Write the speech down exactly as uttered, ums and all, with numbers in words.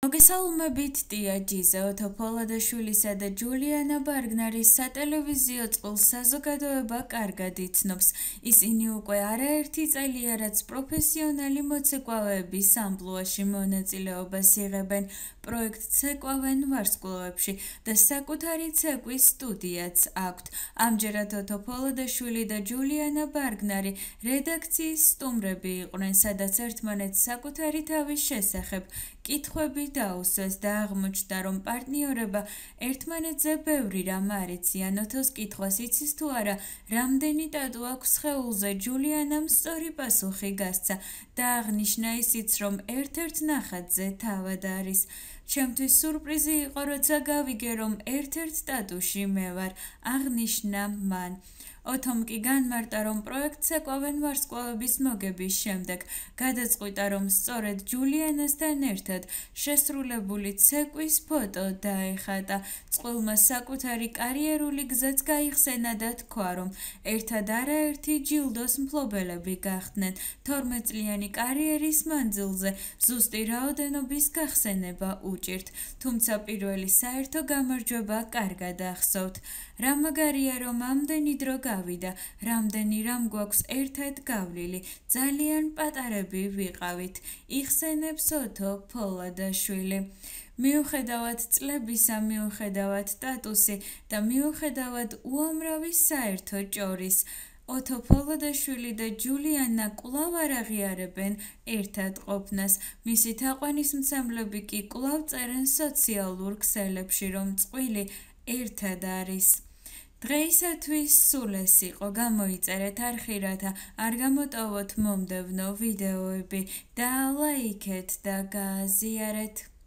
მოგესალმებით ტია ჯიზა, ოთო პოლადაშვილისა და ჯულიანა ბარგნარის სატელევიზიო წყვილ საზოგადოება კარგად იცნობს. ისინი უკვე არაერთი წელია, რაც პროფესიონალი მოცეკვავეების ამპლუაში მონაწილეობას იღებენ. პროექტ ცეკვავენ ვარსკვლავებში და საკუთარი ცეკვის სტუდიაც აქვთ. ამჯერად ოთო პოლადაშვილი და ჯულიანა ბარგნარი რედაქციის სტუმრები იყვნენ, სადაც ერთმანეთს საკუთარი თავის შესახებ კითხვები დაუსვეს და აღმოჩნდა, რომ პარტნიორება ერთმანეთზე ბევრი რამ არ იციან. ოთოს კითხვას იცის თუ არა, რამდენი ტატუ აქვს სხეულზე, ჯულიანამ სწორი პასუხი გასცა და აღნიშნა ისიც, რომ ერთ-ერთ ნახატზე თავად არის. ჩემთვის სურპრიზი იყო, როცა გავიგე, რომ ერთ-ერთ ტატუში მე ვარ, აღნიშნა მან. ოთომ კი განმარტა, რომ პროექტ ცეკვავენ ვარსკვლავების მოგების შემდეგ გადაწყვიტა, რომ სწორედ ჯულიანასთან ერთად შესრულებული ცეკვის ფოტო დაეხატა. წყვილმა საკუთარი კარიერული გზაც გაიხსენა და თქვა, რომ ერთად არაერთი ჯილდოს მფლობელები გახდნენ. თორმეტწლიანი კარიერის მანძილზე ზუსტი რაოდენობის გახსენება უჭირთ, თუმცა პირველი საერთო გამარჯვება კარგად ახსოვთ. რა მაგარია, რომ ამდენი დრო გავიდა, რამდენი რამ გვაქვს ერთად გავლილი, ძალიან პატარები ვიყავით, იხსენებს ოთო პოლადაშვილი. მიუხედავად წლებისა, მიუხედავად სტატუსი და მიუხედავად უამრავი საერთო ჭორის, ოთო პოლადაშვილი და ჯულიანა კვლავ არ აღიარებენ ერთად ყოფნას. მისი თაყვანისმცემლები კი კვლავ წერენ სოციალურ ქსელებში, რომ წყვილი ერთად არის. დღეისათვის სულ ეს იყო, გამოიწერეთ არხი, რათა არ გამოტოვოთ მომდევნო ვიდეოები და ლაიქეთ და გააზიარეთ.